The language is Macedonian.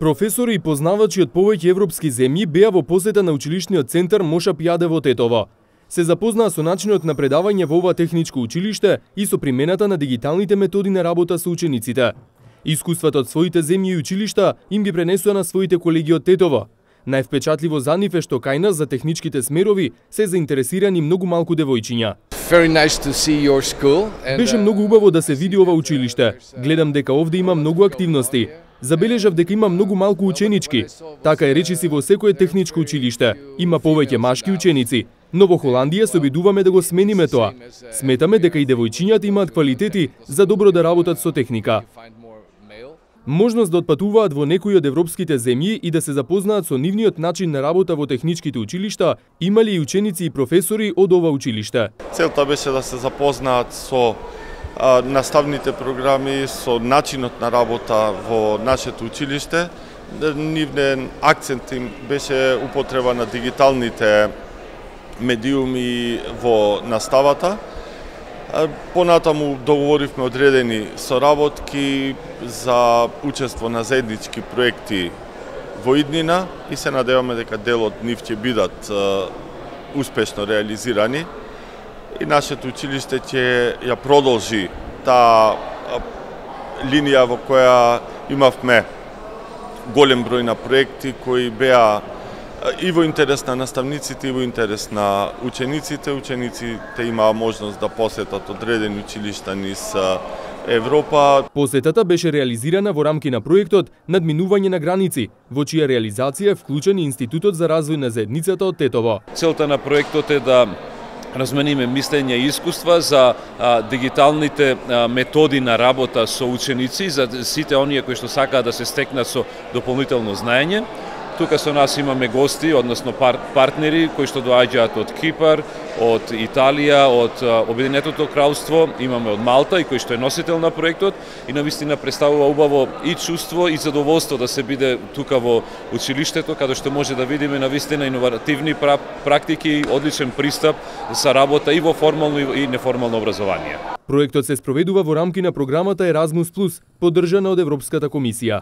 Професори и познавачи од повеќе европски земји беа во посета на училишниот центар Моша Пијаде во Тетово. Се запознаа со начинот на предавање во ова техничко училиште и со примената на дигиталните методи на работа со учениците. Искуствата од своите земји и училишта им ги пренесува на своите колеги од Тетово. Највпечатливо за нив е што кај нас за техничките смерови се заинтересирани многу малку девојчиња. Беше многу убаво да се види ова училиште. Гледам дека овде има многу активности. Забележав дека има многу малку ученички. Така е речиси во секое техничко училиште. Има повеќе машки ученици. Но во Холандија се обидуваме да го смениме тоа. Сметаме дека и девојчињата имаат квалитети за добро да работат со техника. Можност да отпатуваат во некои од европските земји и да се запознаат со нивниот начин на работа во техничките училишта имали и ученици и професори од ова училиште. Целта беше да се запознаат со наставните програми, со начинот на работа во нашето училиште. Нивен акцент им беше употреба на дигиталните медиуми во наставата. Понатаму договоривме одредени соработки за учество на заеднички проекти во иднина и се надеваме дека дел од нив ќе бидат успешно реализирани. И нашето училиште ќе ја продолжи таа линија во која имавме голем број на проекти кои беа и во интерес на наставниците, и во интерес на учениците. Учениците имаа можност да посетат одредени училишта низ Европа. Посетата беше реализирана во рамки на проектот Надминување на граници, во чија реализација е вклучен и Институтот за развој на заедницата од Тетово. Целта на проектот е да размениме мислења и искуства за дигиталните методи на работа со ученици, за сите оние кои што сакаат да се стекнат со дополнително знаење. Тука со нас имаме гости, односно партнери кои што доаѓаат од Кипар, од Италија, од Обединетото кралство, имаме од Малта и кој што е носител на проектот и навистина представува убаво и чувство и задоволство да се биде тука во училиштето, каде што може да видиме навистина иновативни практики и одличен пристап за работа и во формално и неформално образование. Проектот се спроведува во рамки на програмата Erasmus+, поддржана од Европската комисија.